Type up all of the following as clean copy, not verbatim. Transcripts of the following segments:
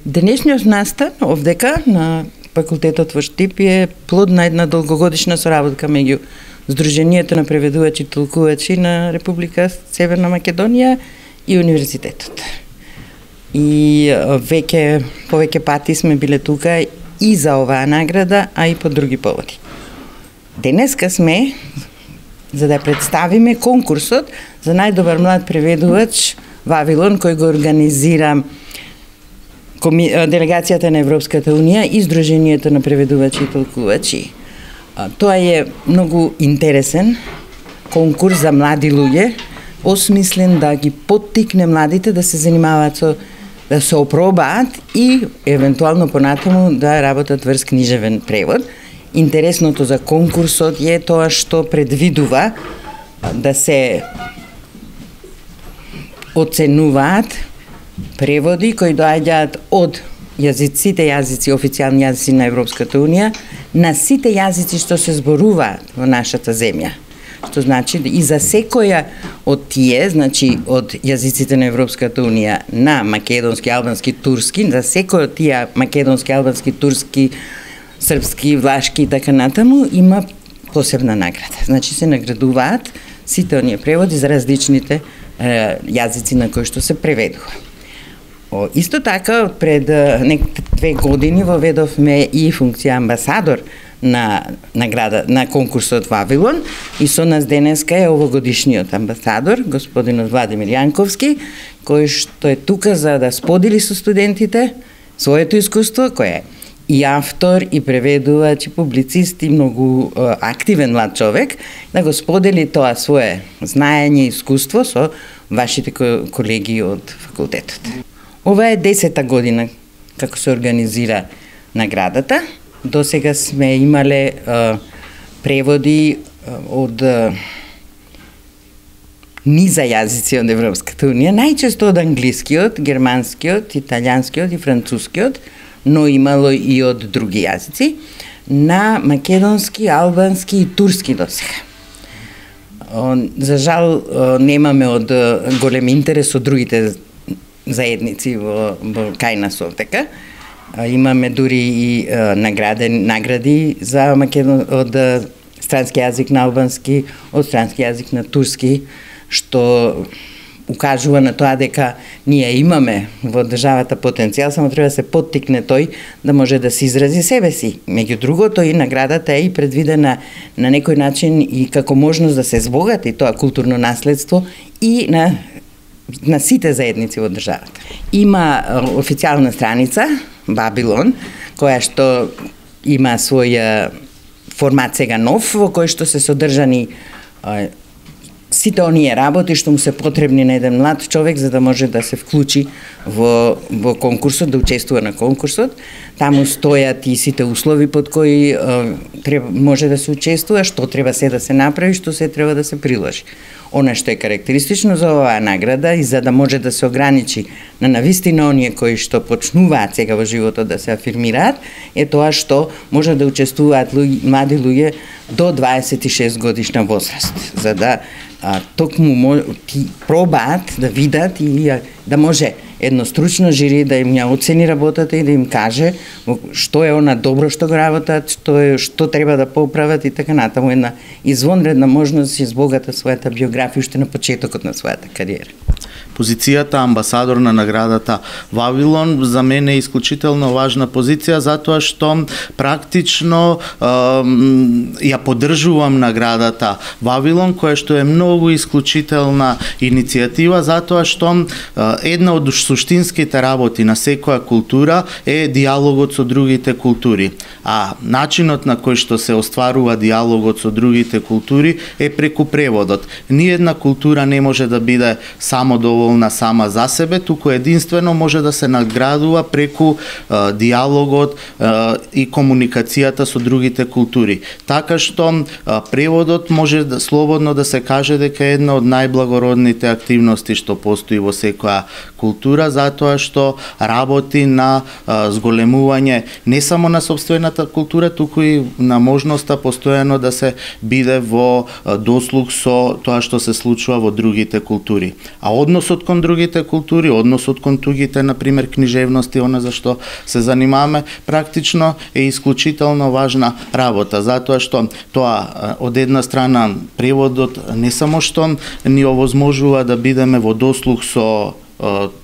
Денешниот настан овдека на факултетот во Штип е плод на една долгогодишна соработка меѓу Сдруженијето на преведувачи и толкувачи на Република Северна Македонија и универзитетот. И повеќе пати сме биле тука и за оваа награда, а и по други поводи. Денеска сме за да представиме конкурсот за најдобар млад преведувач Вавилон, кој го организира делегацијата на Европската Унија и Сдруженијето на преведувачи и толкувачи. Тоа е многу интересен конкурс за млади луѓе, осмислен да ги поттикне младите да се занимаваат да се опробаат и евентуално понатаму да работат врз книжевен превод. Интересното за конкурсот е тоа што предвидува да се оценуваат преводи кои доаѓаат од сите јазици, официјални јазици на Европската Унија, на сите јазици што се зборуваат во нашата земја. Што значи и за секоја од тие, значи од јазиците на Европската Унија на македонски, албански, турски, за секој од тие македонски, албански, турски, српски, влашки и така натаму има посебна награда. Значи се наградуваат сите оние преводи за различните јазици на кои што се преведува. Исто така, пред 2 години воведовме и функција амбасадор на конкурсот Вавилон и со нас денеска е овогодишниот амбасадор, господинот Владимир Јанковски, кој што е тука за да сподели со студентите своето искуство, кој е и автор, и преведувач, и публицист, и многу активен млад човек, да го сподели тоа свое знаење и искуство со вашите колеги од факултетот. Ова е 10-та година како се организира наградата. До сега сме имале преводи од низа јазици од Европската Унија, најчесто од англискиот, германскиот, италијанскиот и францускиот, но имало и од други јазици, на македонски, албански и турски досега. За жал немаме од голем интерес од другите заедници во кај нас овдека. Имаме дури и награди за од странски јазик на албански, од странски јазик на турски, што укажува на тоа дека ние имаме во државата потенцијал, само треба да се поттикне тој да може да се изрази себе си. Меѓу другото и наградата е и предвидена на некој начин и како можност да се збогати тоа културно наследство и на сите заедници во државата. Има официјална страница Вавилон, која што има свој формат сега нов, во кој што се содржани сите оние работи што му се потребни на еден млад човек за да може да се вклучи во конкурсот, да учествува на конкурсот. Таму стојат и сите услови под кои може да се учествува, што треба се да се направи, што се треба да се приложи. Она што е карактеристично за оваа награда и за да може да се ограничи на навистина оние кои што почнуваат сега во животот да се афирмираат, е тоа што може да учествуваат млади луѓе до 26 годишна возраст, за да токму пробаат да видат и да може едно стручно жири да им ја оцени работата и да им каже што е она добро што го работат, што треба да поправат и така натаму. Една извонредна можност да се избогата својата биографија уште на почетокот на својата кариера. Позицијата амбасадор на наградата Вавилон за мене е исклучително важна позиција затоа што практично ја поддржувам наградата Вавилон, која што е многу исклучителна иницијатива затоа што една од суштинските работи на секоја култура е диалогот со другите култури, а начинот на кој што се остварува диалогот со другите култури е преку преводот. Ниедна култура не може да биде самодоволна сама за себе, туку единствено може да се наградува преку диалогот и комуникацијата со другите култури. Така што преводот може слободно да се каже дека е една од најблагородните активности што постои во секоја култура затоа што работи на зголемување не само на сопствената култура, туку и на можноста постојано да се биде во дослуг со тоа што се случува во другите култури. А односот кон другите култури, односот кон тугите, например, книжевности, она за што се занимаваме, практично е исклучително важна работа, затоа што тоа од една страна преводот не само што ни овозможува да бидеме во дослуг со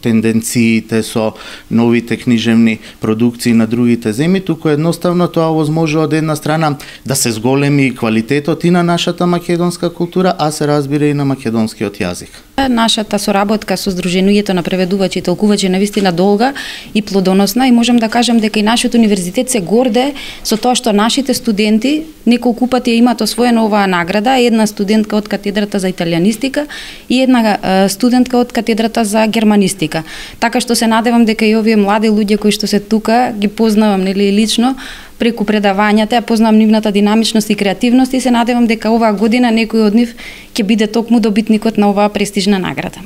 тенденциите, со новите книжевни продукции на другите земји, туку едноставно тоа овозможува од една страна да се зголеми квалитетот и на нашата македонска култура, а се разбира и на македонскиот јазик. Нашата соработка со Сдруженијето на преведувачи и толкувачи е навистина долга и плодоносна и можам да кажам дека и нашиот универзитет се горде со тоа што нашите студенти неколку пати имаат освоена оваа награда, една студентка од катедрата за италијанистика и една студентка од катедрата за германистика. Така што се надевам дека и овие млади луѓе кои што се тука ги познавам лично преку предавањата, ја познавам нивната динамичност и креативност и се надевам дека оваа година некој од нив ќе биде токму добитникот на оваа престижна награда.